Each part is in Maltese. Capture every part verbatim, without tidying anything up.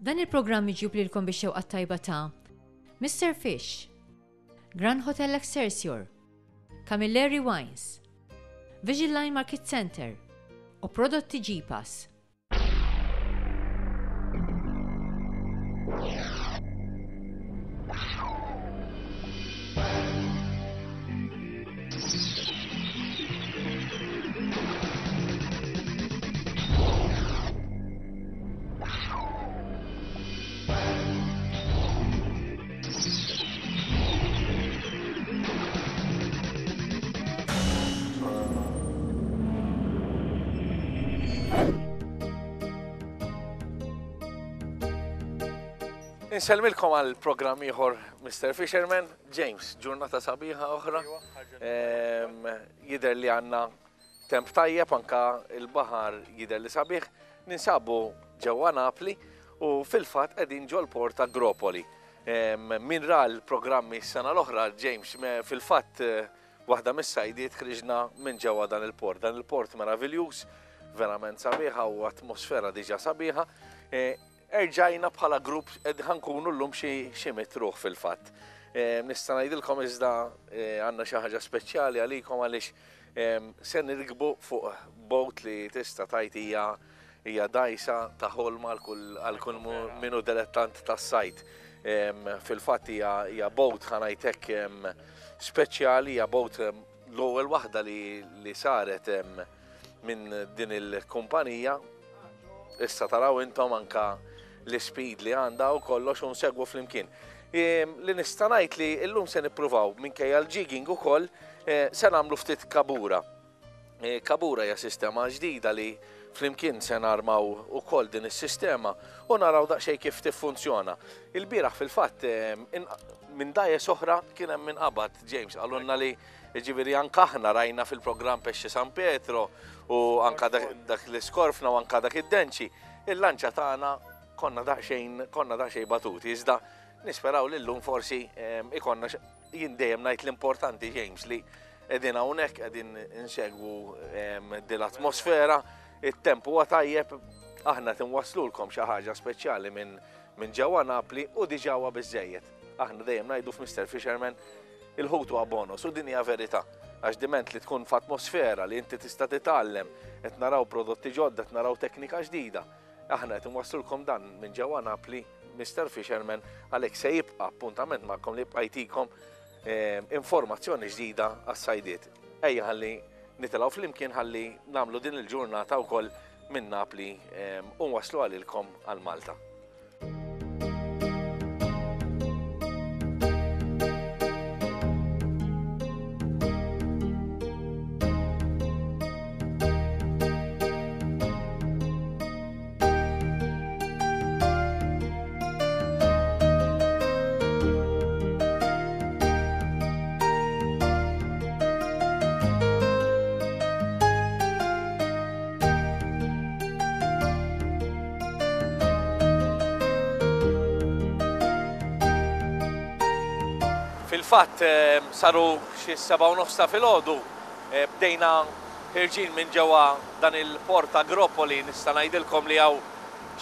Dan il-programm miġjub lilkom bix-xewqa tajba ta' Mister Fish, Grand Hotel Excelsior, Camilleri Wines, Vision Line Market Center u prodotti G-Pass. Insellmilkom għal programm ieħor Mister Fisherman. James, ġurnata sabiħa oħra. Jidher li għandna temp tajjeb, anka il-baħar jidher li sabiħ. Ninsabu ġewwa Napli u fil-fatt qegħdin ġol-port ta' Agropoli. Min ra l-programmi s-sena l-oħra, James, fil-fatt waħda mis-sajdiet ħriġna minn ġewwa dan il-port. Dan il-port meraviljuż, verament sabiħa u atmosfera diġà sabiħa. Erġajna bħala grupp ed ħankunu llum xi mitruħ fil-fatt. Nista' ngħidilkom iżda għandna xi ħaġa speċjali għalikom għaliex se nirkbu fuq boat li tista' tgħid hija hija dgħajsa ta' ħolma għal kull minu dilettant tas-sajt. Fil-fatt hija boat ħa ngħid hekk speċjali, hija boat l-ewwel waħda li saret minn din il-kumpanija. Issa taraw intom anka l-speed li għandha u kollox u nsegwu flimkien. Li nista' ngħid li llum se nippruvaw minkejja l-jigging ukoll se nagħmlu ftit kabura. Kabura hija sistema ġdida li flimkien se narmaw ukoll din is-sistema u naraw daqsxejn kif tiffunzjona. Il-bieraħ fil-fatt minn dgħajjes oħra kien hemm inqabad, James, qalulna li ġifieri anke aħna rajna fil-programm Pesce San Pietro u anka dak l-iskorfna u anka dak id-denċi, il-lanċa tagħna konna daqsxejn konna daqsxejn batuti, iżda nisperaw li llum forsi ikonna jien dejjem ngħid l-importanti, James, li qegħdin hawnhekk qegħdin insegwu din l-atmosfera, it-temp huwa tajjeb, aħna qed inwasslulkom xi ħaġa speċjali minn ġewwa Napli u diġà huwa biżżejjed. Aħna dejjem ngħidu f'Mister Fisherman il-ħut huwa bonus u din hija verità, għax diment li tkun f'atmosfera li inti tista' titgħallem, qed naraw prodotti ġodda, qed naraw teknika ġdida. Aħna qed inwasslulkom dan minn ġewwa Napli, Mister Fisherman, għalhekk se jibqa' appuntament magħkom li jibqa' jtikom informazzjoni ġdida għas-sajdiet. Ejja ħalli nitilgħu flimkien ħalli nagħmlu din il-ġurnata wkoll minn Napli u nwasslu għalilkom għal Malta. Fil-fatt saru xi seba' u nofs ta' filgħodu, bdejna ħirġin minn ġewwa dan il-port Agropoli. Nista' ngħidilkom li hawn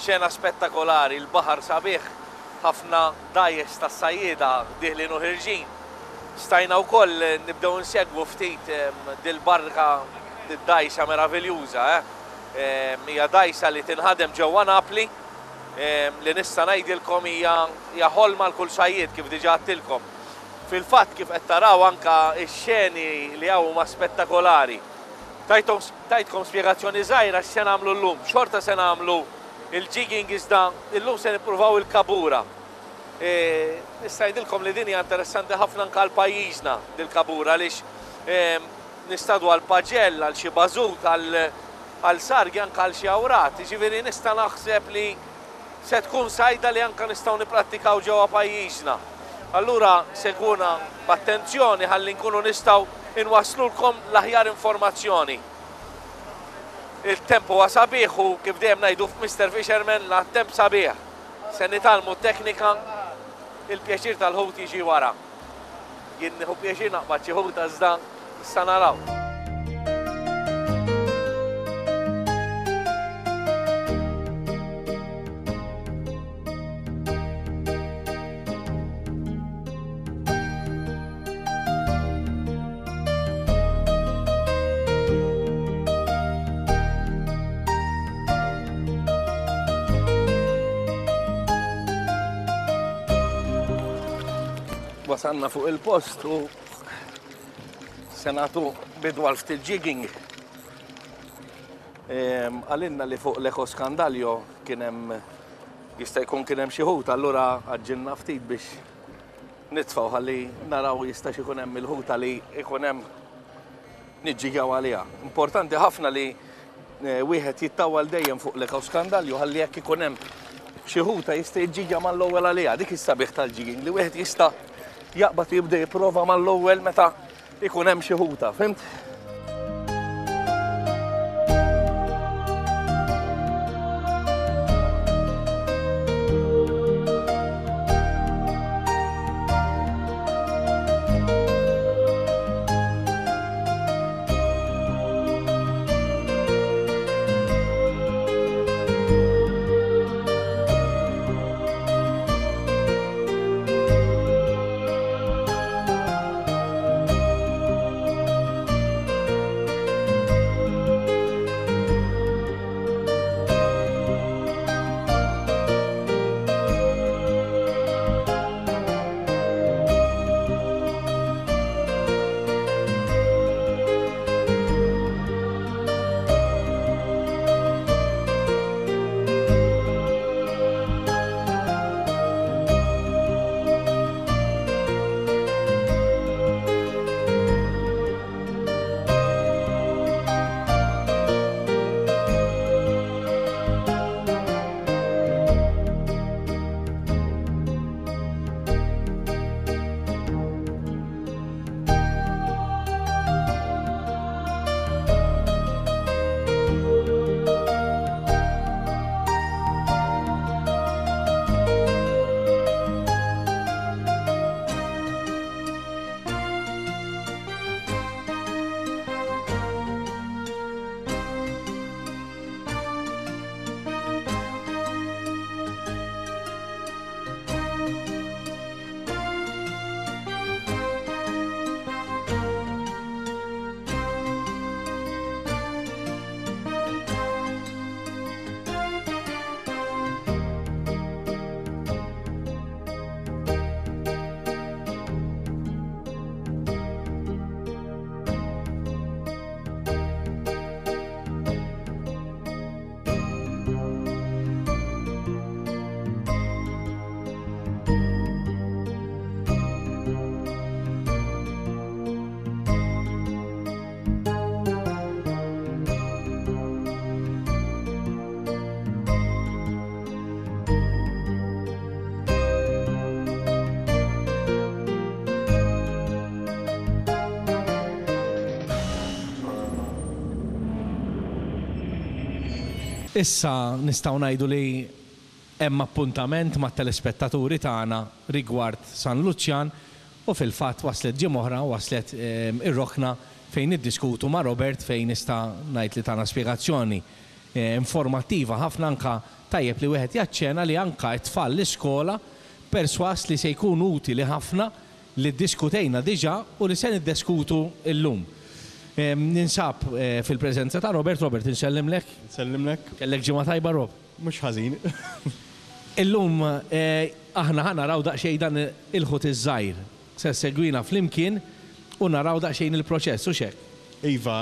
xena spettakolari, il-baħar sabiħ, ħafna dgħajjes tas-sajjieda dieħlin u ħirġin. Stajna wkoll nibdew insegwu ftit dil-barka, dil-dgħajsa meraviljuża, eh? Hija dgħajsa li tinħadem ġewwa Napli, li nista' ngħidilkom hija ħolma għal kull sajjied kif diġà għedtilkom. Fil-fatt kif qed taraw anka x-xeni li hawn huma spettakolari. Tajtkom spjegazzjoni żgħira x'se nagħmlu llum. Xorta se nagħmlu il-jigging iżda llum se nippruvaw il-kabura. Nista' ngħidilkom li din hija interessanti ħafna anke għal pajjiżna dil-kabura għaliex nistadu għal paġell, għal xi bażut, għal sargi, anke għal xi awrat. Jiġifieri nista' naħseb li se tkun sajda li anke nistgħu nipprattikaw ġewwa pajjiżna. Allura segwuna b'attenzjoni ħalli nkunu nistgħu inwasslulkom l-aħjar informazzjoni. Il-temp huwa sabiħ u kif dejjem ngħidu f'Mister Fisherman la temp sabiħ. Se nitgħallmu t-teknika, il-pjaċir tal-ħut jiġi wara. Jien nieħu pjaċir naqbad xi ħuta iżda issa naraw. Wasalna fuq il-post u se nagħtu bidu għal ftit jigging. Għalinna li fuq l-Ecoscandaglio kien hemm jista' jkun kien hemm xi ħut, allura għaġġilna ftit biex nitfgħu ħalli naraw jista' ikun hemm il-ħuta li jkun hemm niġġigjaw għaliha. Importanti ħafna li wieħed jittawal dejjem fuq l-Ecoscandaglio ħalli jekk ikun hemm xi ħuta jista' jiġġigja mal-ewwel għaliha. Dik is-sabiħ tal-jigging li wieħed jista' jaqbad u jibda jipprova mal-ewwel meta ikun hemm xi ħuta, fhimt? Issa nistgħu ngħidu li hemm appuntament mat-telespettaturi tagħna rigward San Luċjan u fil-fatt waslet ġimgħa oħra waslet ir-rokna fejn niddiskutu ma' Robert fejn nista' ngħid li tagħna spjegazzjoni informattiva ħafna anka tajjeb li wieħed jaċċena li anka t-tfal l-iskola perswas li se jkun utili ħafna li ddiskutejna diġà u li se niddiskutu llum. Ninsab fil-preżenza ta' Robert. Robert, insellimlek. Insellimlek. Kellek ġimgħa tajba, Rob? Mhux ħażin. Illum aħna ħa naraw daqsxejn dan il-ħut iż-żgħir. Se segwina flimkien u naraw daqsxejn il-proċess, u xek? Iva,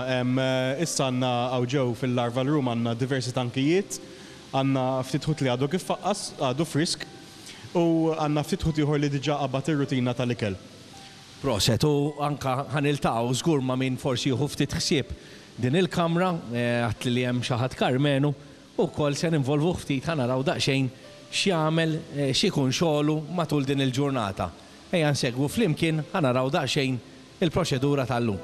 issa għandna hawn ġew fil-larval room għandna diversi tankijiet, għandna ftit ħut li għadu kif faqqas, għadu frisk, u għandna ftit ħut ieħor li diġà qabad ir-rutina tal-ikel. Proset, u anka ħaniltaqgħu żgur ma' min forsi jieħu ftit ħsieb din il-kamra, għat li hemm xi ħadd Karmenu, u wkoll se ninvolvu ftit ħa naraw daqsxejn x'jagħmel, x'ikun xogħlu matul din il-ġurnata. Ejja nsegwu flimkien ħa naraw daqsxejn il-proċedura tal-lum.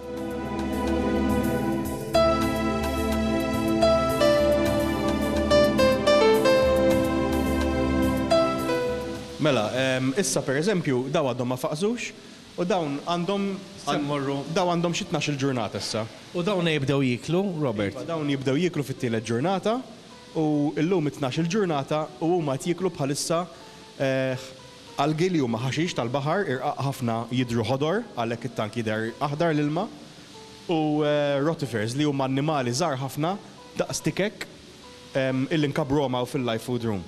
Mela, issa per eżempju, daw għadhom ma faqsux, u dawn għandhom daw għandhom xi tnax-il ġurnata issa. U dawn jibdew jiklu, Robert? Iva, dawn jibdew jiklu fit-tielet ġurnata u llum it-tnax-il ġurnata u huma qed jiklu bħalissa algi li huma ħaxix tal-baħar, irqaq ħafna jidhru ħodor, għalhekk it-tank jidher aħdar l-ilma, u rotifers li huma annimali żgħar ħafna daqs tikek illi nkabbruhom hawn fil-life food room.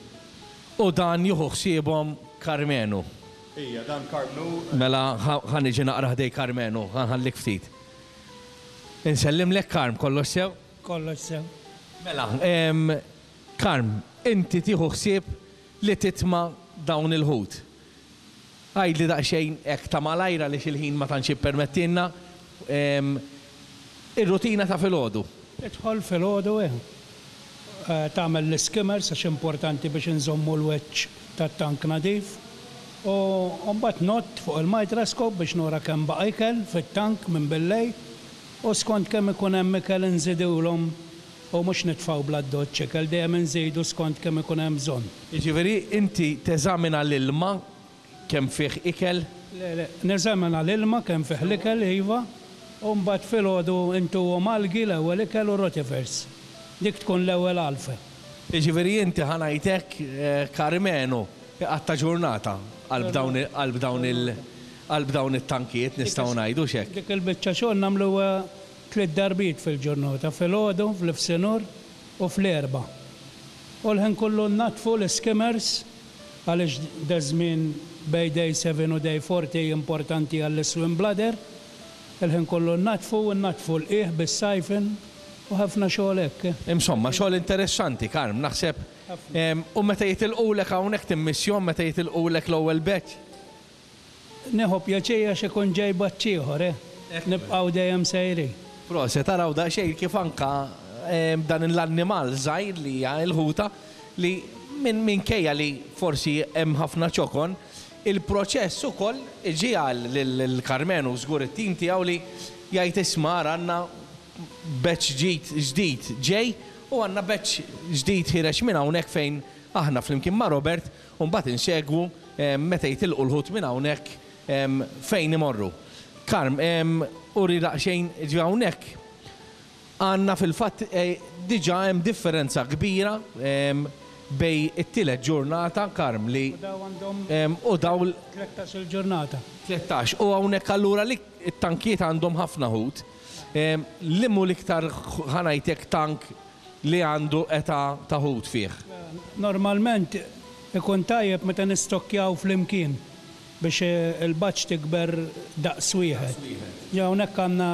U dan jieħu ħsiebhom Karmenu. Ija, dan Karmnu. Mela ħa niġi naqra ħdejn Karmenu, ħa nħallik ftit. Insellimlek, Karm, kollox sew? Kollox sew. Mela, Karm, inti tieħu ħsieb li titma' dawn il-ħut. Għidli daqsxejn hekk ta' malajra li xil-ħin ma tantx jippermettilna ir-rutina ta' filgħodu. Idħol filgħodu, eh. Tagħmel l-skimmers għax importanti biex inżommu l-wiċċ tat-tank nadif. U mbagħad ngħodd fuq il-microscope biex nura kemm baqa' ikel fit-tank minn billejl u skont kemm ikun hemm ikel inżidulhom u mhux nitfgħu bl-addoċċ ikel, dejjem inżidu skont kemm ikun hemm bżonn. Jiġifieri inti teżamina l-ilma kemm fih ikel? Le, le, neżamina l-ilma kemm fih l-ikel, iva, u mbagħad filgħodu intuhom algi l-ewwel ikel u rotifers. Dik tkun l-ewwel għalfa. Jiġifieri inti, ħa ngħidlek, Karmenu, iqatta' ġurnata qalb dawn qalb dawn il qalb dawn it-tankijiet, nistgħu ngħidu hekk. Dik il-biċċa xogħol nagħmluha tliet darbiet fil-ġurnata, filgħodu, fl-ifsinhar u fl-erba. U l-ħin kollu naddfu l-skimmers għaliex daż-żmien bejn day seven u day forty importanti għall-swim bladder. Il-ħin kollu naddfu u naddfu l-qiegħ bis-siphon u ħafna xogħol hekk. Insomma, xogħol interessanti, Karm, naħseb. U meta jitilqulek hawnhekk timmissjahom meta jitilqulek l-ewwel batch? Nieħu pjaċir għax ikun ġej batch ieħor, eh. Nibqgħu dejjem sejrin. Proset, taraw daqsxejn kif anka dan l-annimal żgħir li hija l-ħuta li minn minkejja li forsi hemm ħafna ċokon, il-proċess ukoll iġiegħel lil Karmenu żgur it-tim tiegħu li jgħid, "Isma', għandna batch ġdid ġdid ġej u għandna batch ġdid ħiereġ minn hawnhekk," fejn aħna flimkien ma' Robert u mbagħad insegwu meta jitilqu l-ħut minn hawnhekk fejn imorru. Karm, uri daqsxejn ġi hawnhekk għandna fil-fatt diġà hemm differenza kbira bejn it-tielet ġurnata, Karm, li U daw għandhom u daw tlettax-il ġurnata. Tlettax. U hawnhekk allura li t-tankiet għandhom ħafna ħut. Liema hu l-iktar, ħa ngħidlek, tank li għandu età ta' ħut fih? Normalment ikun tajjeb meta nistokkjaw flimkien biex il-batch tikber daqs wieħed. Ja, hawnhekk għandna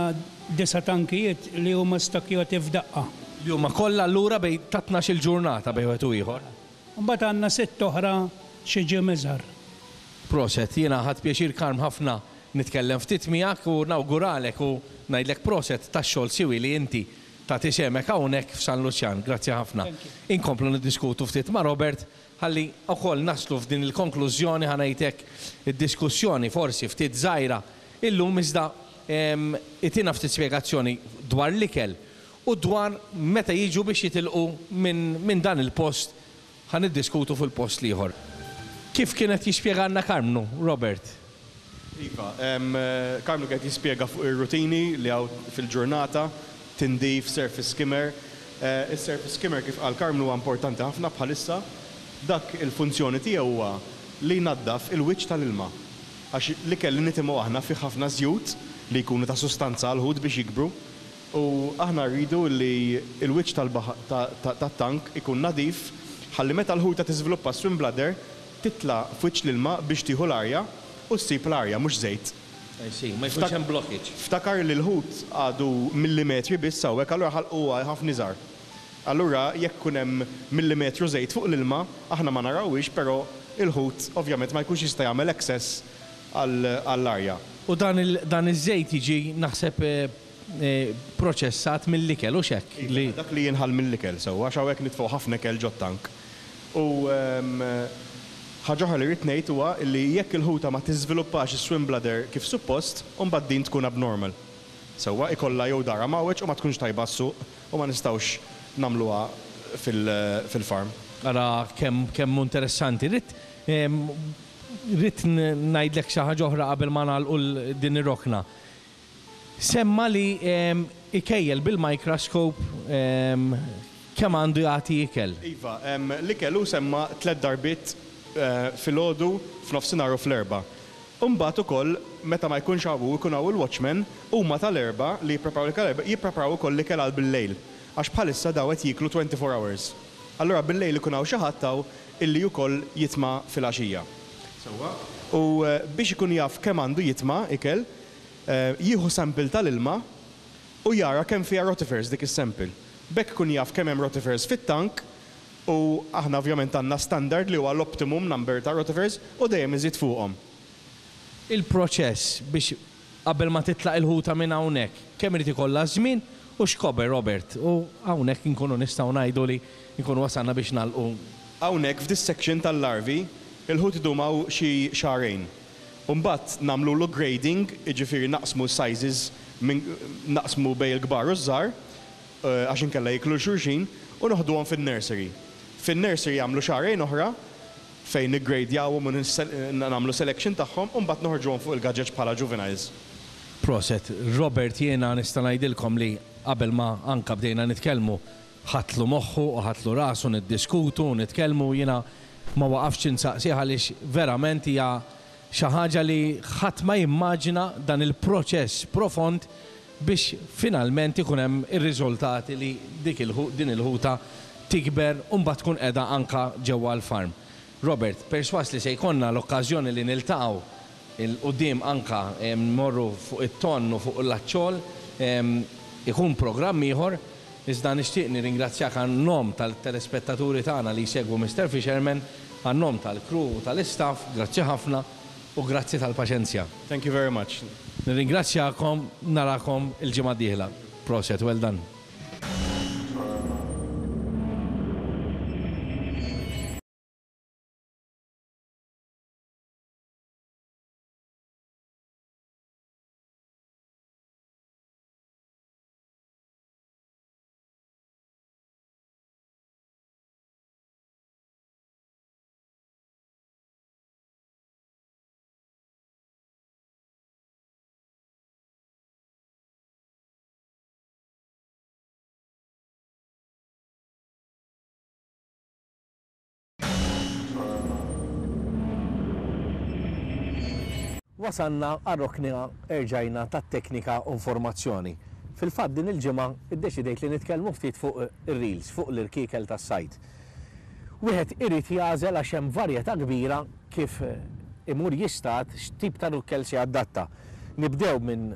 disa' tankijiet li huma stokkjati f'daqqa. Li huma kollha allura bejn ta' tnax-il ġurnata bejn wieħed u ieħor. Mbagħad għandna sitt oħra xi ġim iżgħar. Proset, jiena ħadt pjaċir, Karm, ħafna nitkellem ftit miegħek u nawguralek u ngħidlek proset tax-xogħol siwi li inti tagħti sehemek hawnhekk f'San Luċjan. Grazzi ħafna. Inkomplu niddiskutu ftit ma' Robert ħalli wkoll naslu f'din il-konklużjoni, ħa ngħidlek, id-diskussjoni forsi ftit żgħira illum, iżda itina ftit spjegazzjoni dwar l-ikel u dwar meta jiġu biex jitilqu minn min dan il-post, ħa niddiskutu fil-post l-ieħor. Kif kienet jispjegana Karmnu, Robert? Iva, Karmnu kienet jispjega fuq ir-rutini li hawn fil-ġurnata, tindif, surface skimmer. Is-surface skimmer, kif qal Karmnu, huwa importanti ħafna bħalissa. Dak il-funzjoni tiegħu huwa li jnaddaf il-wiċċ tal-ilma. Għax l-ikel li nitimgħu aħna fi ħafna żjut li jkunu ta' sustanza għal-ħut biex jikbru. U aħna rridu li il-wiċċ tat-tank ikun nadif ħalli meta l-ħuta tiżviluppa swim bladder titla' f'wiċċ l-ilma biex tieħu l-arja u ssib l-arja, mhux żejt. Ma jkunx hemm blockage. Ftakar li l-ħut għadu millimetri biss hawnhekk, allura ħalqu ħafna iżgħar. Allura jekk kun hemm millimetru żejt fuq l-ilma, aħna ma narawhiex, però il-ħut ovvjament ma jkunx jista' jagħmel access għall-arja. U dan iż-żejt jiġi, naħseb, proċessat mill-ikel u hekk? Dak li jinħall mill-ikel sewwa, għax hawnhekk nitfgħu ħafna ikel ġot-tank. U ħaġa oħra li rrid ngħid huwa li jekk il-ħuta ma tiżviluppax is-swim bladder kif suppost, mbagħad din tkun abnormal. Sewwa, ikollha jew dahra mgħawweġ u ma tkunx tajba s-suq u ma nistgħux nagħmluha fil-farm. Ara kemm kemm interessanti. Rrid rrid ngħidlek xi ħaġa oħra qabel ma nagħlqu din ir-rokna. Semma li ikejjel bil-microscope kemm għandu jagħti ikel. Iva, l-ikel hu semma tliet darbiet, filgħodu, f'nofsinhar u fl-erba. Imbagħad ukoll meta ma jkunx hawn, ikun hawn il-watchman, huma tal-erba li jippreparaw l-ikel, jippreparaw ukoll l-ikel għal bil-lejl. Għax bħalissa daw qed jiklu twenty-four hours. Allura bil-lejl ikun hawn xi ħadd hawn illi wkoll jitma' fil-għaxija. Sewwa. U biex ikun jaf kemm għandu jitma' ikel, jieħu sample tal-ilma u jara kemm fiha rotifers dik is-sample. B'hekk ikun jaf kemm hemm rotifers fit-tank u aħna ovvjament għandna standard li huwa l-optimum number ta' rotifers u dejjem iżid fuqhom. Il-proċess biex qabel ma titlaq il-ħuta minn hawnhekk, kemm irid ikollha żmien u x'kober, Robert? U hawnhekk inkunu nistgħu ngħidu li nkunu wasalna biex nagħlqu. Hawnhekk f'dis section tal-larvi, il-ħut idum hawn xi xahrejn. U mbagħad nagħmlulu grading, jiġifieri naqsmu sizes minn naqsmu bejn il-kbar u ż-żgħar, għax inkella jiklu xulxin, u noħduhom fin-nursery. Fin-nursery jagħmlu xahrejn oħra fejn niggradjawhom u nagħmlu selection tagħhom u mbagħad noħorġuhom fuq il-gaġeġ bħala juveniles. Proset, Robert, jiena nista' ngħidilkom li qabel ma anka bdejna nitkellmu ħatlu moħħu u ħatlu rasu niddiskutu u nitkellmu, jiena ma waqafx insaqsih għaliex verament hija xi ħaġa li ħadd ma jimmaġina dan il-proċess profond biex finalment ikun hemm ir-riżultati li dik il-ħu-, din il-ħuta tikber u mbagħad tkun qiegħda anka ġewwa l-farm. Robert, perswas li se jkollna l-okkażjoni li niltaqgħu il-qudiem anka morru fuq it-tonn u fuq l-aċċol, ikun programm ieħor, iżda nixtieq nirringrazzjak għan-nom tal-telespettaturi tagħna li jsegwu Mister Fisherman, għan-nom tal-crew u tal-istaff, grazzi ħafna u grazzi tal-paċenzja. Thank you very much. Nirringrazzjakom, narakom il-ġimgħa d-dieħla. Proset, well done. Wasanna għar-rokna erġajna tat-teknika u informazzjoni. Fil-fatt din il-ġimgħa iddeċidejt li nitkellmu ftit fuq ir-reels, fuq l-irkiekel tas-sajd. Wieħed irid jagħżel għax hemm varjetà kbira kif imur jistat x'tip ta' rukkel se jadatta. Nibdew minn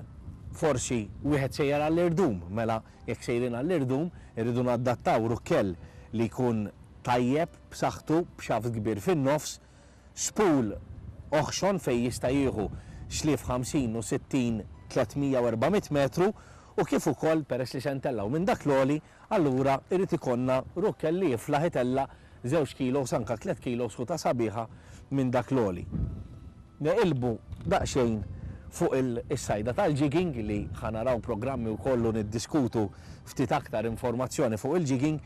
forsi wieħed sejjer għall-irdum, mela jekk sejrin għall-irdum irridu nadattaw rukkel li jkun tajjeb, b'saħħtu, b'xaft kbir fin-nofs, spool oħxon fej jista' jieħu xlief ħamsin u sittin, tliet mija u erba' mitt metru, u kif ukoll peress li se ntellgħu minn dak l-għoli, allura irid ikollna rukkel li jiflaħ itella' żewġ kilos anka tliet kilos ħuta sabiħa minn dak l-għoli. Neqilbu daqsxejn fuq il-sajda tal-jigging li ħanaraw programmi wkoll u niddiskutu ftit aktar informazzjoni fuq il-jigging.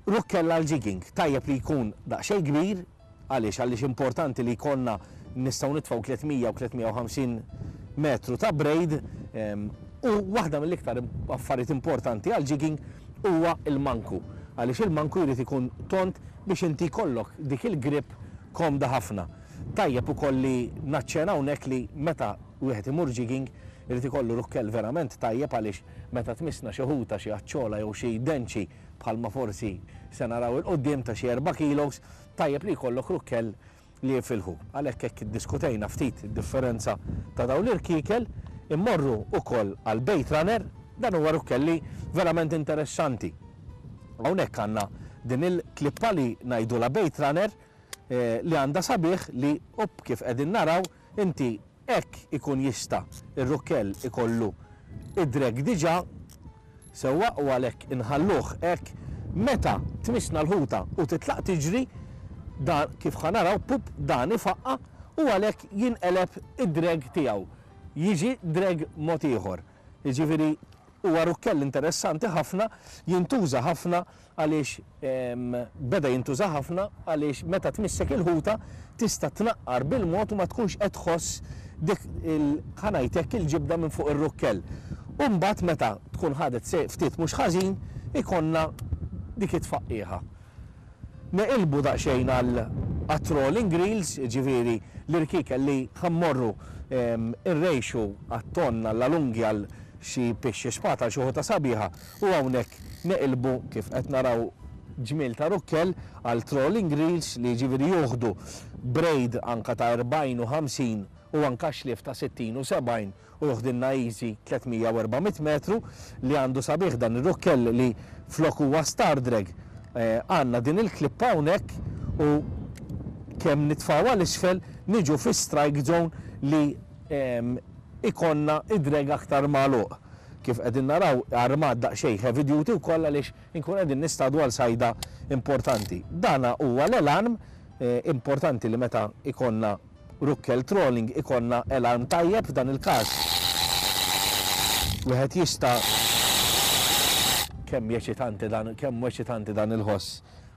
Rukkell għal-jigging tajjeb li jkun daqsxejn kbir, għaliex? Għaliex importanti li jkollna nistgħu nitfgħu tliet mija u tliet mija u ħamsin metru ta' braid, em, u waħda mill-iktar affarijiet importanti għal jigging huwa il-manku, għaliex il-manku jrid ikun tont biex inti jkollok dik il-grip komda ħafna. Tajjeb ukoll li naċċena hawnhekk li meta wieħed imur jigging irid ikollu rukkell verament tajjeb, għaliex meta tmissna xi ħuta, xi aċċola jew xi denċi bħalma forsi se naraw il-qudiem ta' xi erba' kilos, tajjeb li jkollok rukkell li jifilħu. Għalhekk hekk iddiskutejna ftit id-differenza ta' dawn l-irkiekel, immorru ukoll għal bait runner, dan huwa rukkell li verament interessanti. Hawnhekk għandna din il-klippa li ngħidulha bait runner, eh, li għandha sabiħ li up kif qegħdin naraw inti hekk ikun jista' ir-rukkell ikollu id-drag diġà sewwa, u għalhekk inħalluh hekk meta tmissna l-ħuta u titlaq tiġri, dan kif ħanaraw pup dan ifaqqa u għalhekk jinqeleb id-drag tiegħu. Jiġi drag mod ieħor. Jiġifieri huwa rukkell interessanti ħafna, jintuża ħafna għaliex, em, beda jintuża ħafna għaliex meta tmissek il-ħuta tista' tnaqqar bil-mod u ma tkunx qed tħoss dik il-, ħanajtek il-ġibda minn fuq ir-rukkell. U mbagħad meta tkun ħadet se ftit mhux ħażin ikonna dik it-tfaqqiħa. Neqilbu daqsxejn għal trolling reels, ġifieri l-irkiekel li ħammorru, em, irrejxu għat-tonn, għall-alungi, għal xi pixxi spata, xi ħuta sabiħa, u hawnhekk neqilbu kif qed naraw Ġmiel ta' rukkel għal trolling reels li ġifieri juħdu braid anka ta' erbgħin u ħamsin u anka xlief ta' sittin u sebgħin u joħdilna easy tliet mija u erba' mitt metru. Li għandu sabiħ dan ir-rukkel li flok huwa star drag, għandna din il-klippa hawnhekk u kemm nitfgħu għal isfel niġu fi strike zone li ikonna id-drag aktar magħluq. Kif qegħdin naraw armat daqsxejn heavy duty wkoll għaliex inkun qegħdin nistadu għal sajda importanti. Dana huwa l-alarm, importanti li meta ikonna rukkel trolling ikonna alarm tajjeb. F'dan il-każ wieħed jista' kemm jeċitanti dan, kemm eċitanti dan il-ħoss,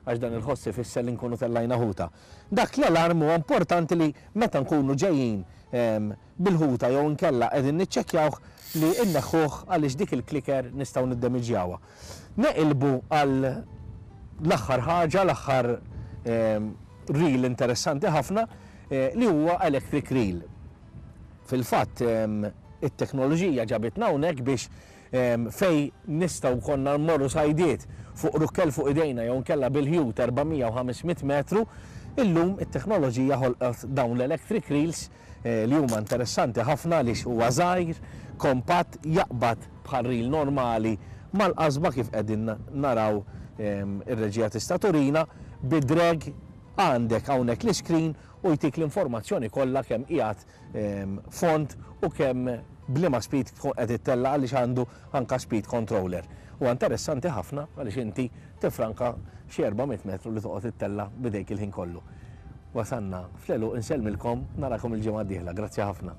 għax dan il-ħoss ifisser li nkunu tellajna ħuta. Dak l-alarm huwa importanti li meta nkunu ġejjin, ehm, bil-ħuta jew inkella qegħdin niċċekkjawh li inneħħuh għaliex dik il-kliker nistgħu niddemiġjawha. Neqilbu għal l-aħħar ħaġa, l-aħħar, ehm, reel interessanti ħafna, eh, li huwa electric reel. Fil-fatt, ehm, it-teknoloġija ġabitna hawnhekk biex, ehm, fej nistgħu konna nmorru sajdiet fuq rukkel fuq idejna jew nkella bil-ħjut erba' mija u ħames mitt metru, illum it-teknoloġija ħolqot dawn l-electric reels, eh, li huma interessanti ħafna għaliex huwa żgħir, kompatt, jaqbad bħal reel normali mal-qasba kif qegħdin naraw, ehm, ir-reġija tista' turina, bid-drag għandek hawnhekk l-iskrin u jtik l-informazzjoni kollha kemm qiegħed, ehm, font u kemm bliema speed tkun qed ittella' għaliex għandu anka speed controller. Huwa interessanti ħafna għaliex inti tifranka xi erba' mitt metru li toqgħod ittella' bidejk il-ħin kollu. Wasanna fl-għeluq, insellmilkom, narakom il-ġimgħa d-dieħla. Grazzi ħafna.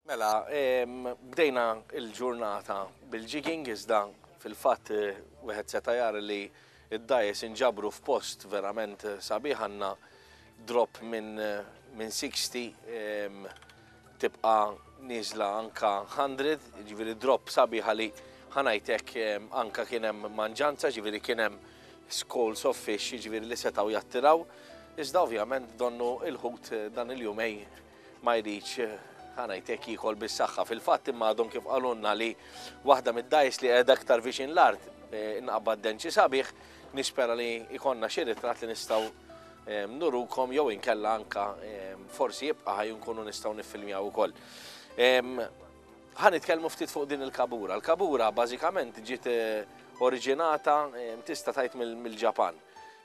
Mela, em, bdejna l-ġurnata bil-jigging, iżda fil-fatt, eh, wieħed seta' jara li id-dgħajjes inġabru f'post verament sabiħ. Għandna drop minn, minn sixty, em, tibqa' nieżla anka hundred, jiġifieri drop sabiħa li ħanajtek, em, anka kien hemm manġanza, jiġifieri kien hemm schools of fish, jiġifieri li setgħu jattiraw. Iżda ovvjament donnu il-ħut dan il-jumej ma jridx ħanajtek jiekol bis-saħħa. Fil-fatt imma għadhom kif qalulna li waħda mid-dgħajjes li qiegħda aktar viċin l-art, eh, inqabad denċi sabiħ, nispera li ikonna xi ritratt li nistgħu, eh, nurukom jew inkella anka, eh, forsi jibqa' ħaj nkunu nistgħu niffilmjaw ukoll. Em, ħa nitkellmu ftit fuq din il-kabura. Il-kabura bażikament ġiet, eh, oriġinata, eh, tista' tgħid mill-, mill-Ġapan.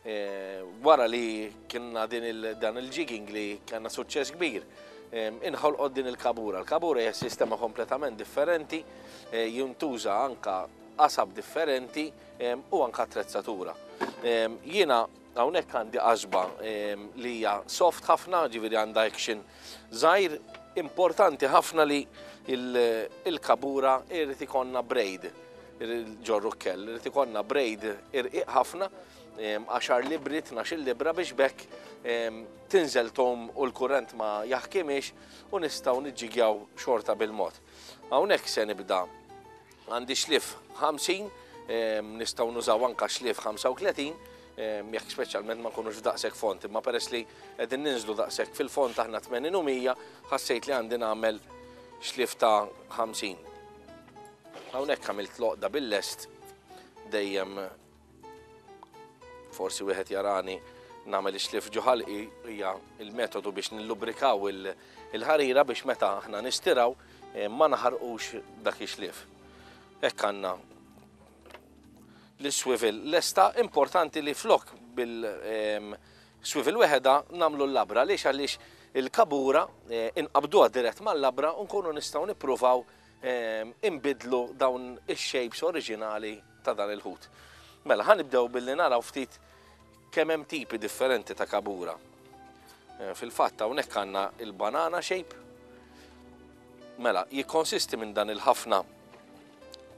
Eh, wara li kienna din il-, dan il-jigging li kellna suċċess kbir, em, inħolqot din il-kabura. Il-kabura hija sistema kompletament differenti, eh, jintuża anka qasab differenti, em, u anka attrezzatura. Em, jiena hawnhekk għandi qasba, em, li hija soft ħafna, ġifieri għandha action żgħir. Importanti ħafna li il-, il-kabura irid ikollna braid, ġorru kell, irid ikollna braid irqiq ħafna, em, għaxar libri, tnax-il libra biex bekk, em, tinżel tom u l-kurrent ma jaħkimix u nistgħu niġġigjaw xorta bil-mod. Hawnhekk se nibda għandi xlif ħamsin, em, nistgħu nużaw anka xlif ħamsa u tletin, em, jekk speċjalment ma nkunux f'daqshekk font, imma peress li qegħdin ninżlu daqshekk fil-font aħna tmenin u mija, ħassejt li għandi nagħmel xlif ta' ħamsin. Hawnhekk għamilt loqda bil-lest, dejjem forsi wieħed jarani nagħmel ix-xlif ġo ħalqi, hija il-metodu biex nillubrikaw il-, il-ħarira biex meta aħna nistiraw, eh, ma naħarqux dak ix-xlif. Hekk għandna l-swivel lesta. Importanti li flok bil, em, swivel weħeda nagħmlu l-labra. Għaliex? Għaliex il-kabura, eh, inqabduha dirett mal-labra u nkunu nistgħu nippruvaw, em, inbidlu dawn ix-shapes oriġinali ta' dan il-ħut. Mela, ħa nibdew billi naraw ftit kemm hemm tipi differenti ta' kabura. Eh, fil-fatt hawnhekk għandna il-banana shape. Mela, jikkonsisti minn dan il-ħafna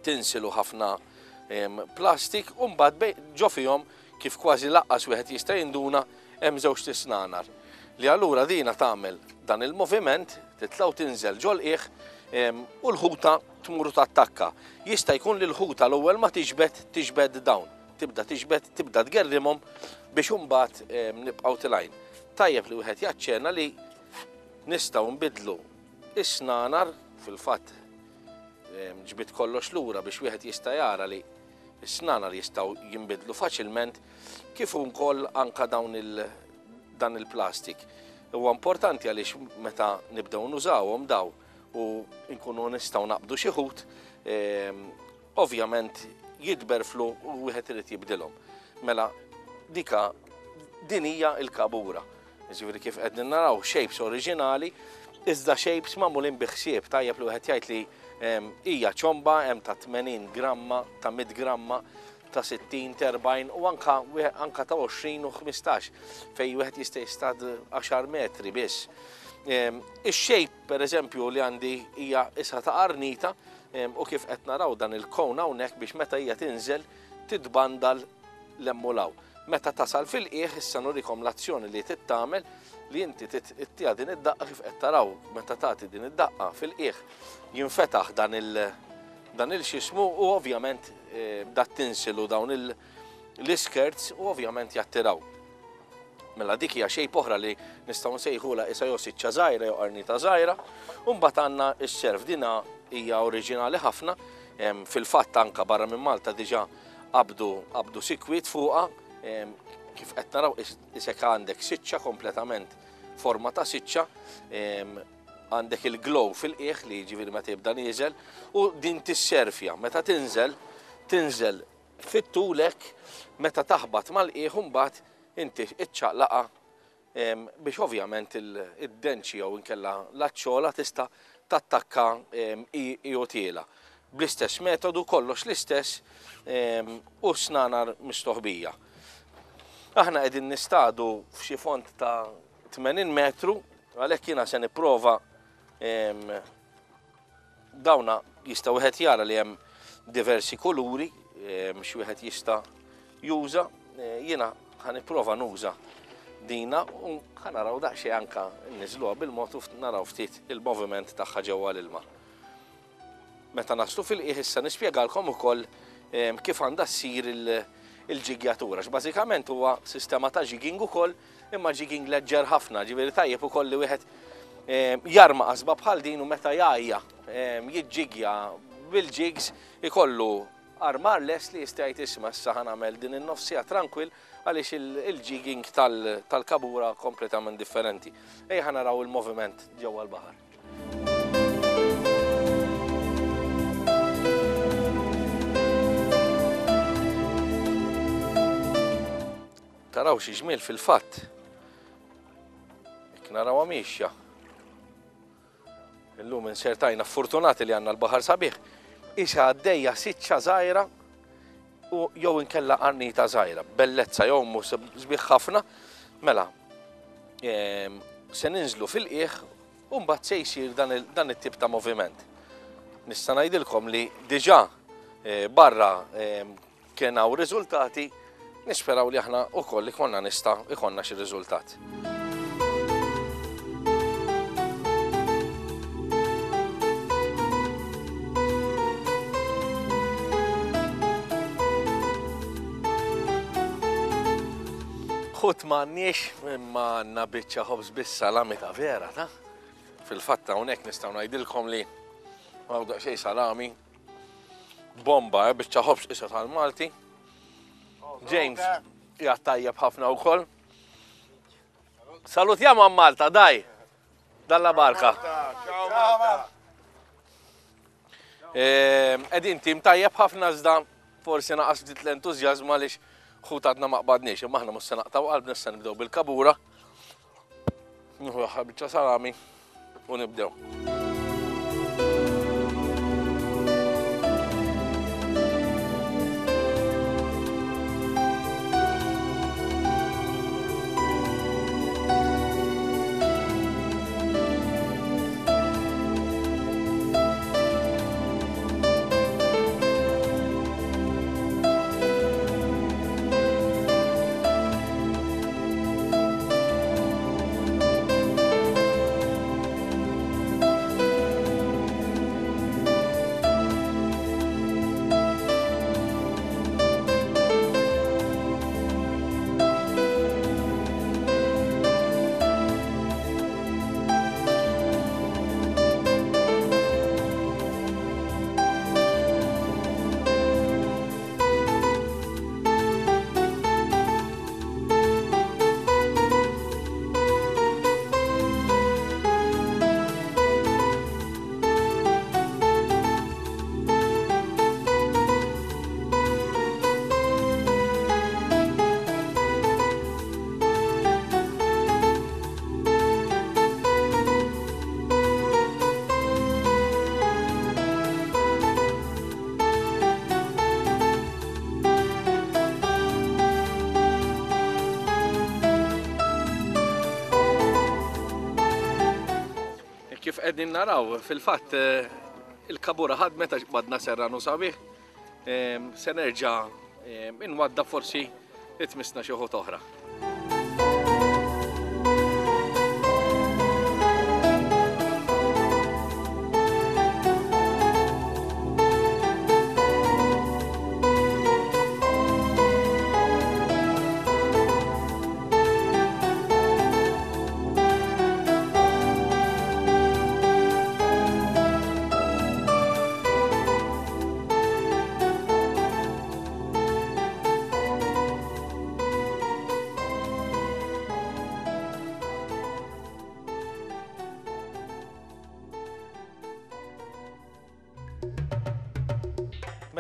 tinsil u ħafna, em, plastik u mbagħad bej-, ġo fihom kif kważi laqqas wieħed jista' jinduna hemm żewġ tisnanar. Li allura dina tagħmel dan il-moviment, titla' u tinżel ġol-qiegħ, em, u l-ħuta tmur tattakka. Jista' jkun li l-ħuta l-ewwel ma tiġbed, tiġbed dawn. Tibda tiġbed, tibda tgerrimhom biex imbagħad, em, nibqgħu tilgħin. Tajjeb li wieħed jaċċena li nistgħu nbidlu is-snanar, fil-fatt Ġbit kollox lura biex wieħed jista' jara li s-snanar jistgħu jinbidlu faċilment, kif ukoll anka dawn il dan il-plastik. Huwa importanti għaliex meta nibdew nużawhom daw u nkunu nistgħu naqbdu xi ħut, ovvjament jitberflu u wieħed irid jibdilhom. Mela dika din hija l-kabura. Jiġifieri kif qegħdin naraw shapes oriġinali, iżda shapes magħmulin bi ħsieb. Tajjeb li wieħed jgħid li hija ċomba hemm ta' tmenin gramma, ta' mitt gramma, ta' sittin, ta' erbgħin u anka, anka ta' għoxrin u ħmistax fejn wieħed jista' jistad għaxar metri biss. Ix-shape pereżempju li għandi hija isa ta' qarnita, u kif qed naraw dan il-kon hawnhekk biex meta hija tinżel titbandal l-emmulaw. Meta tasal fil-qiegħ issa nurikom l-azzjoni li tittamel li inti tittiha din id-daqqa kif qed taraw meta tagħti din id-daqqa fil-qiegħ jinfetaħ dan il- dan il-xismu u ovvjament, eh, dat tinsilu dawn il-, l-iskirts u ovvjament jattiraw. Mela dik hija shape oħra li nistgħu nsejħulha isa jew siċċa żgħira jew qarnita żgħira, u mbagħad għandna s-serf. Dina hija oriġinali ħafna, em, fil-fatt anka barra minn Malta diġà qabdu, qabdu sikwit fuqha, em, kif qed naraw is-, isek għandek siċċa kompletament forma ta' siċċa, em, għandek il-glow fil-qiegħ li jiġifieri meta jibda nieżel u din tisserfja meta tinżel, tinżel fit-tulek meta taħbat mal-qiegħ u mbagħad inti iċċaqlaqa, em, biex ovvjament il-, id-denċi jew inkella l-aċċola tista' tattakka, em, i-, i u tiela. Bl-istess metodu, kollox l-istess, em, u snanar mistoħbija. Aħna qegħdin nistadu f'xi fond ta' tmenin metru, għalhekk jiena se nipprova, em, dawna jista' wieħed jara li hemm diversi kuluri, em, xi wieħed jista' juża. Eh, jiena ħa nipprova nuża dina u ħa naraw daqsxejn anka nniżluha bil-mod u naraw ftit il-moviment tagħha ġewwa l-ilma. Meta naslu fil-qiegħ issa nispjegalkom ukoll, em, kif għandha ssir il-, il-ġigjatura. Bażikament huwa sistema ta' jigging ukoll, imma jigging leġġer ħafna, ġifieri tajjeb ukoll li wieħed, em, jarma qasba bħal din u meta jgħajja, em, jiġġigja bil-jigs ikollu armar les li jista' jgħid isma' issa ħa nagħmel din in-nofsija tranquil għaliex il-, il-jigging tal-, tal-kabura kompletament differenti. Ejja ħa naraw il-moviment ġewwa l-baħar. Taraw xi ġmiel fil-fatt. Jekk narawha mixja. Illum insertajna fortunati li għandna l-baħar sabiħ. Isa għaddejja siċċa żgħira u jew inkella qarnita żgħira. Bellezza jew mhu sbieħ ħafna. Mela, em, se ninżlu fil-qiegħ u mbagħad se jsir dan il-, dan it-tip ta' moviment. Nista' ngħidilkom li diġà, eh, barra, em, kien hawn riżultati, nisperaw li aħna wkoll ikollna nista' ikollna xi riżultat. Ħut m'għandniex imma għandna biċċa ħobż bis-salami ta' vera, ta' fil-fatt hawnhekk nistgħu ngħidilkom li hawn daqsxejn salami bomba, eh, biċċa ħobż isa tal-Malti. James qiegħed tajjeb ħafna wkoll. Salutiamo a Malta, dai! Dalla barka. Ehm, qegħdin tim tajjeb ħafna iżda forsi naqas ftit l-entużjażmu għaliex ħut għadna ma qbadniex, imma aħna mhux se naqtaw qalbna, issa nibdew bil-kabura. Nieħu l-aħħar biċċa salami u nibdew. Kif qegħdin naraw, fil-fatt il-kabura ħadmet għax qbadna serranu sabiħ. Se nerġa' inwadda forsi itmisna xi ħut oħra.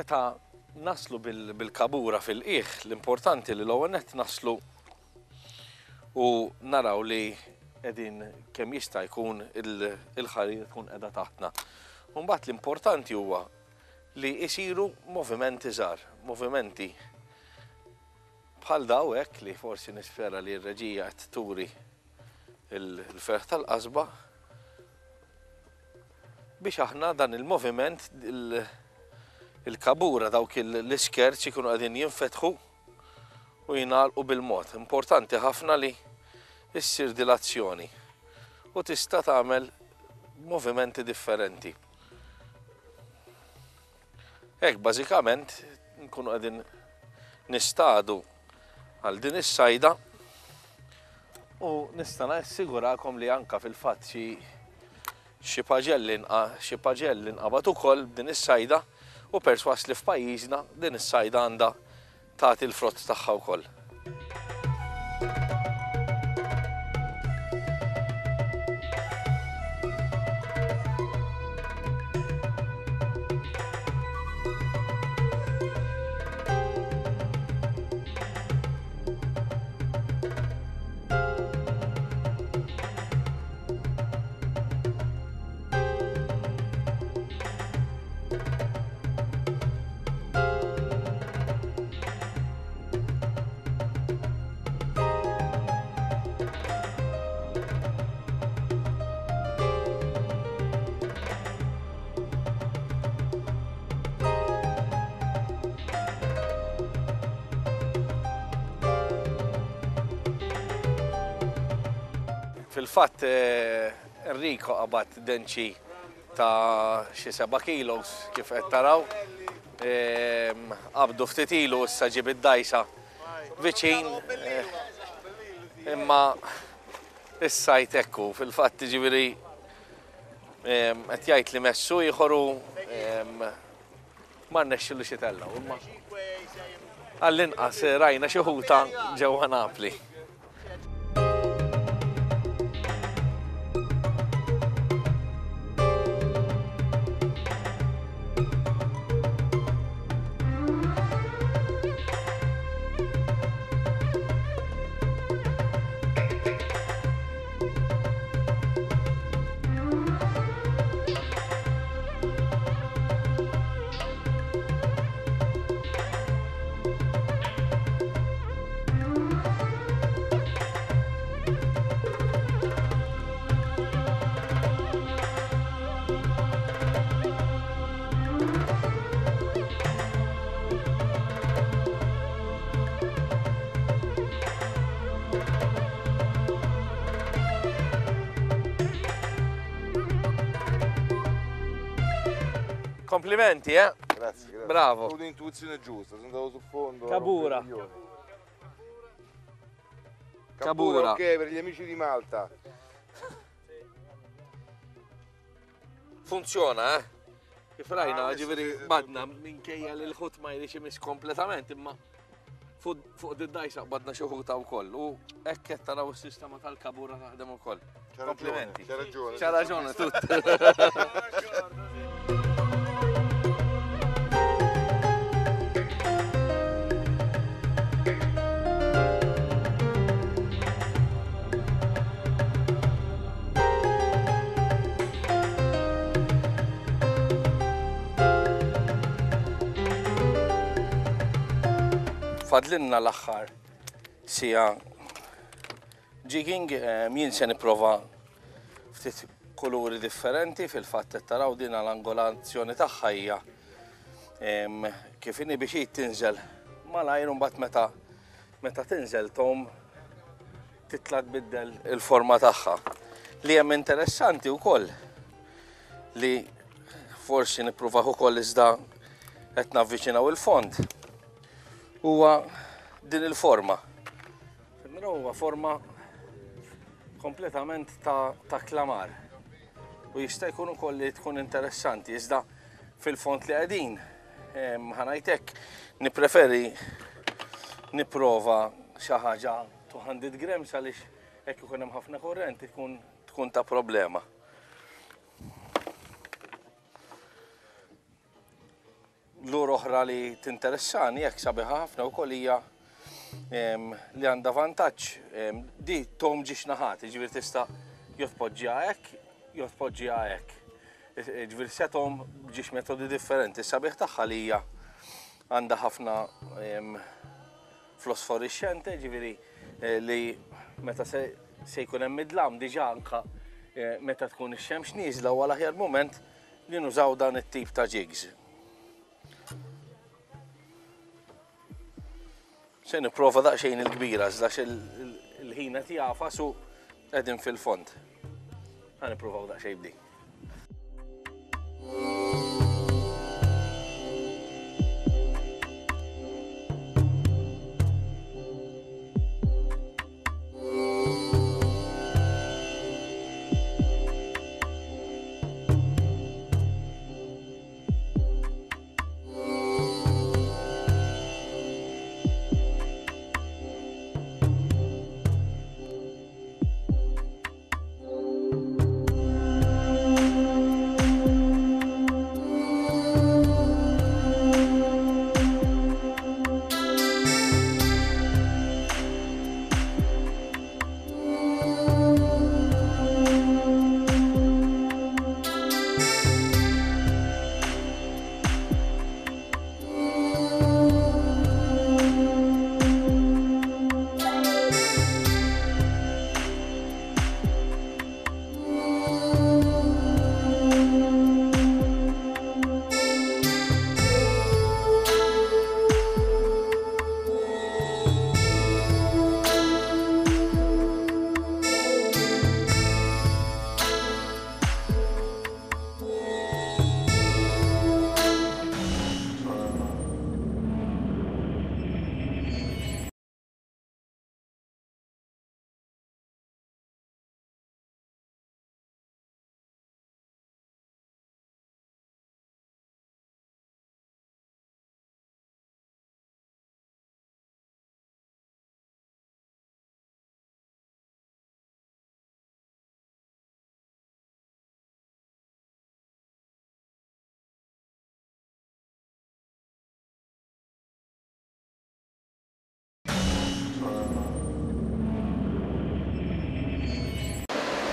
Meta naslu bil-kabura fil-qiegħ, l-importanti li l-ewwel nett naslu u naraw li qegħdin kemm jista' jkun il-ħarir tkun qiegħda taħtna. U mbagħad l-importanti huwa li jsiru movimenti żgħar, movimenti bħal daw hekk li forsi nispera li r-reġija qed turi il-ferħ tal-qasba biex aħna dan il-moviment il-kabura dawk l-iskerċ ikunu qegħdin jinfetħu u jingħalqu bil-mod. Importanti ħafna li issir dilazzjoni u tista' tagħmel movimenti differenti. Hekk bażikament nkunu qegħdin nistadu għal din is-sajda u nista' nassigurakom li anka fil-fatt xi xi paġelli xi paġelli nqabad ukoll b'din is-sajda u perswas li f'pajjiżna din is-sajda għandha tagħti l-frott tagħha wkoll. Fil-fatt Enrico qabad denċi ta' xi seba' kilos kif qed taraw. Qabdu ftit ilu issa ġib id-dajsa viċin, imma is-sajt ekku fil-fatt jiġifieri qed jgħid li messu ieħor u ma rnexxilux itellgħu, imma għall-inqas rajna xi ħuta ġewwa Napli. Complimenti, eh? Grazie, grazie. Bravo. Ho avuto l'intuizione giusta, sono andato sul fondo. Cabura. Cabura. Cabura, ok, per gli amici di Malta. Funziona, eh? Kif rajna, ġifieri badna minkejja li l-ħut ma jridx imiss kompletament, imma fuq id-dajsa badna xi ħuta wkoll u hekk qed taraw is-sistema tal-kabura taħdem ukoll. Complimenti. C'ha ragione. C'ha ragione tutto. Fadlinna l-aħħar sija jigging, jien se nipprova ftit kuluri differenti, fil-fatt qed taraw din l-angolazzjoni tagħha hija kif inhi biex hi tinżel malajr u mbagħad meta meta tinżel tom titla' tbiddel il-forma tagħha. Li hemm interessanti wkoll li forsi nippruvaw ukoll iżda qed navviċinaw il-fond huwa din il-forma. Huwa forma kompletament ta', ta' klamar. U jista' jkun ukoll li tkun interessanti, iżda fil-fond li qegħdin, ħanajtek nippreferi nipprova xi ħaġa two hundred grams għaliex hekk ikun hemm ħafna kurrent tkun tkun ta' problema. Lur oħra li tinteressani jekk sabiħa ħafna wkoll hija li għandha vantaġġ, di tom ġiex naħat, jiġifieri tista' jew tpoġġiha hekk, jew tpoġġiha hekk. Jiġifieri se tom ġiex metodi differenti. Sabiħ tagħha li hija għandha ħafna fosforixxente, jiġifieri li meta se jkun hemm idlam diġà anke meta tkun ix-xemx nieżla huwa l-aħjar mument li nużaw dan it-tip ta' jigs. Se nipprova daqsxejn il-kbira, iżda il-ħin qed jagħfas u qegħdin fil-fond. Ħa nippruvaw daqsxejn b'din.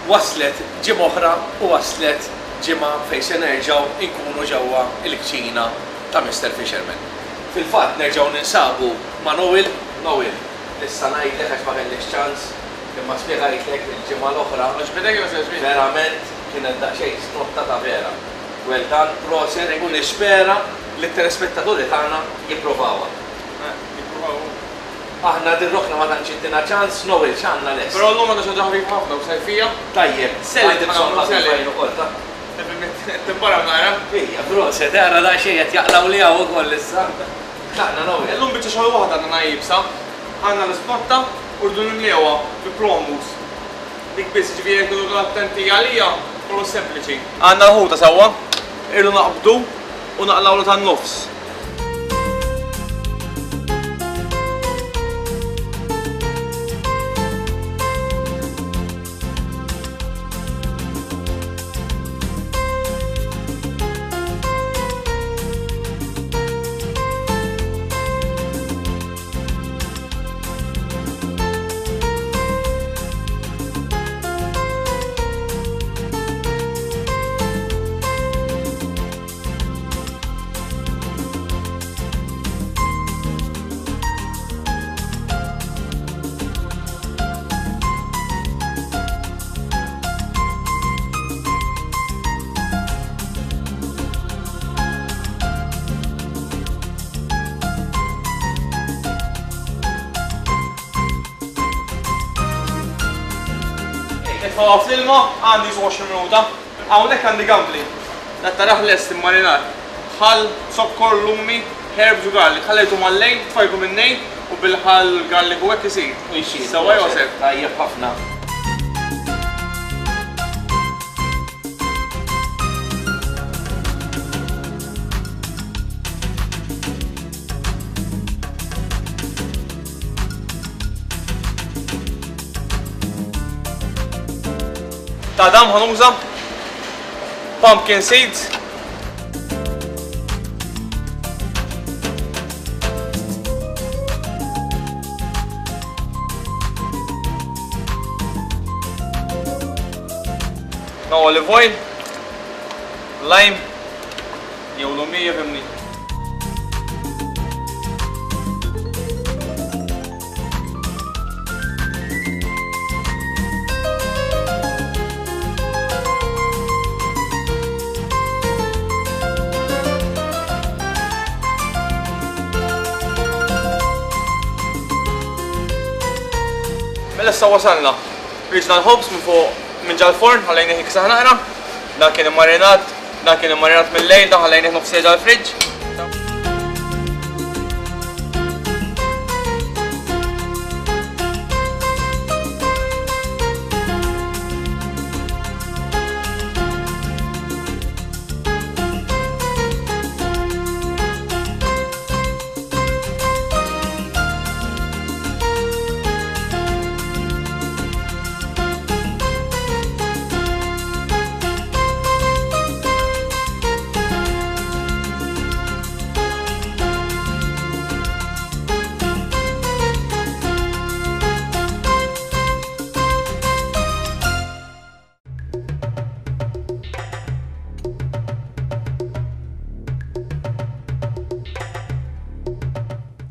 Waslet ġimgħa oħra u waslet ġimgħa fejn se nerġgħu nkunu ġewwa l-kċina ta' Mister Fisherman. Fil-fatt nerġgħu ninsabu ma' Noel. Noel, issa ngħidlek għax ma kellix ċans, imma spjegajtlek il-ġimgħa l-oħra. Verament kienet daqsxejn snotta ta' vera. Well done, proset, u nispera li t-telespettaturi tagħna jipprovawha. Aħna din rokna ma tantx ittina ċans, Noel x'għandna lest. Però llum għandna xi ħaġa ħafifa ħafna u sajfija. Tajjeb, Selli bżonn selli. ħafifa ukoll ta' Timbara nara. Ejja, proset, ara daqsxejn qed jaqlaw li hawn ukoll issa. Tlaqna Noel. Illum biċċa xogħol waħda għandna jibsa. Għandna l-ispotta u rridu nimlewha bi promos. Dik biss ġifieri jekk noqogħdu attenti għalija, kollu sempliċi. Għandna l-ħuta sewwa, irridu naqbdu u naqlawlu tan-nofs. Nitfgħuha fl-ilma, għandi xi għoxrin minuta. Hawnhekk għandi gambli. Dat taraħ lest immarinat. Ħall, zokkor, lumi, herbs u garlic. Ħallejtu mal-lejl, tfajtu minn-nejn u bil-ħall garlic u hekk isir. U jsir. Sewwa Josef. Tajjeb ħafna. Ta' dam ħanuża pumpkin seeds. No olive oil, lime, jew lumija fimni. Mela issa wasalna. Riġna l-ħobż minn fuq minn ġal-forn, ħallejnieh jiksaħ naqra. Dan kien immarinat, dan kien immarinat mill-lejl, dan ħallejnieh nofs siegħa ġal-friġġ.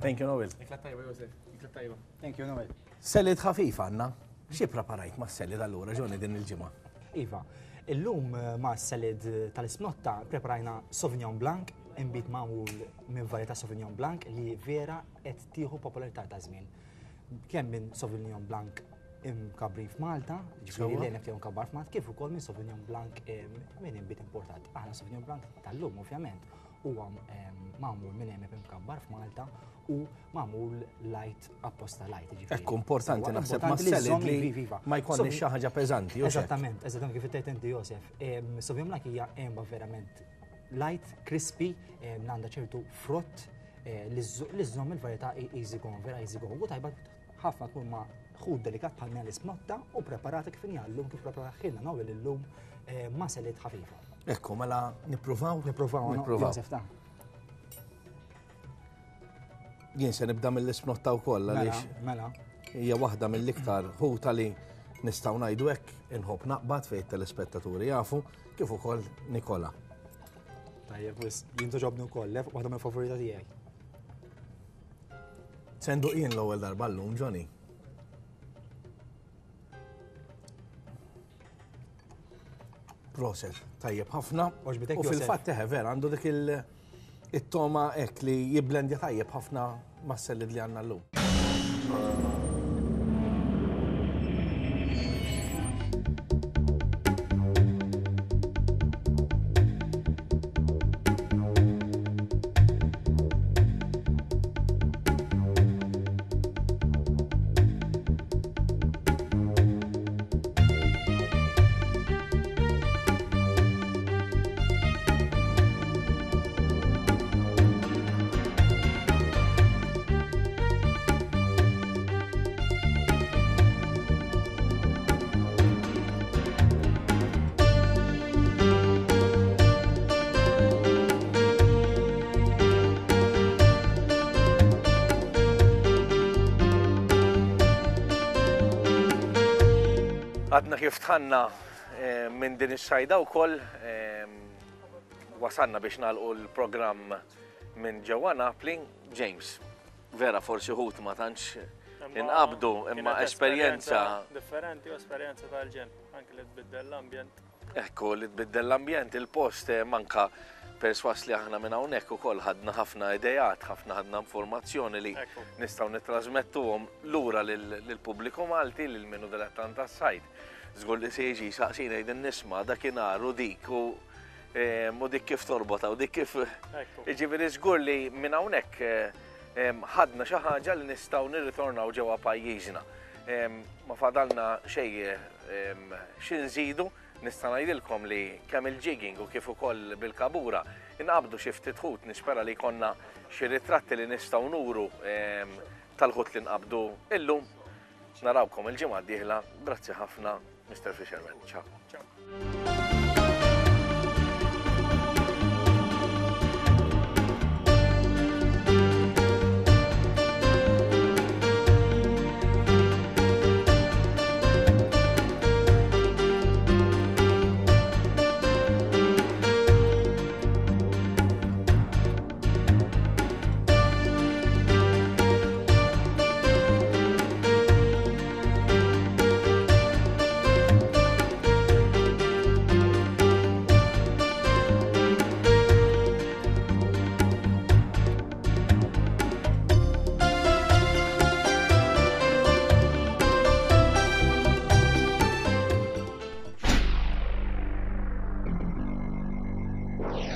Thank you, Noel. Ikla tajba, Josef. Ikla tajba. Thank you, Noel. Salad ħafif għandna. Xi preparajt ma' salad allura, Johnny, din il-ġimgħa? Iva, illum ma' salad tal-isnotta preparajna Sauvignon Blanc, inbid magħmul minn varjetà Sauvignon Blanc li vera qed tieħu popolarità ta' żmien. Kemm minn Sauvignon Blanc imkabrin f'Malta, ġifieri Sewwa. l-għeneb tiegħu mkabbar f'Malta, kif ukoll minn Sauvignon Blanc, em, minn inbid importat. Aħna Sauvignon Blanc tal-lum ovvjament huwa, em, magħmul minn għeneb imkabbar f'Malta u magħmul light apposta light, ġifieri. Ekku, importanti Sewwa, naħseb ma' importanti li salad żżomm li viva, viva. ma jkollniex Sauvignon xi ħaġa peżanti, u x'hekk. Eżattament, eżattament kif tgħid inti Josef. Em, Sauvignon Blanc hija għenba verament light, crispy, em, għandha ċertu frott, eh, li żżo-, li żżomm il-varjetà e-, easy going, vera easy going. U tajba ħafna tkun ma' ħut delikat bħal mela l-ismotta u preparata kif inhi llum, kif preparata Noel illum, eh, ma' salad ħafifa. Ekku, mela nippruvaw? Nippruvaw, no? Nippruvaw. Josef, ta' Jien se nibda mill-ismotta wkoll Mela, għaliex mela. hija waħda mill-iktar ħuta li nistgħu ngħidu hekk inħobb naqbad fejn telespettaturi jafu kif ukoll Nikola. Tajjeb, wis, jien toġobni wkoll, lef, waħda mill-favorita tiegħi. Senduq jien l-ewwel darba llum, Johnny. Proset, tajjeb ħafna. Oġbitek, U Josef? fil-fatt eħe vera għandu dik il- it-toma hekk li jiblendja tajjeb ħafna mas-salad li għandna llum. Għadna kif tħanna, eh, minn din is-sajda wkoll, eh, wasalna biex nagħlqu l-programm minn ġewwa Napli. James, vera forsi ħut ma tantx Imma inqabdu, imma kienet esperjenza differenti u esperjenza tal-ġen, anke li tbiddel l-ambjent. Ekku, li tbiddel l-ambjent, il-post, eh, manka perswas li aħna minn hawnhekk ukoll ħadna ħafna idejat, ħafna ħadna informazzjoni li Ekku. nistgħu nittrażmettuhom lura lil-pubbliku Malti, lil minu dilettant tas-sajd. Żgur li se jiġi saqsina jgħidin nisma' dakinhar u dik u u dik kif torbota u dik kif. Jiġifieri żgur li minn hawnhekk ħadna xi ħaġa li nistgħu nirritornaw ġewwa pajjiżna. Ma fadalna xejn xi nżidu, nista' ngħidilkom li kemm il-jigging u kif ukoll bil-kabura inqabdu xi ftit ħut, nispera li jkollna xi ritratti li nistgħu nuru tal-ħut li nqabdu illum. Narawkom il-ġimgħa d-dieħla. Grazzi ħafna, Mister Fisherman. Ciao. Yeah.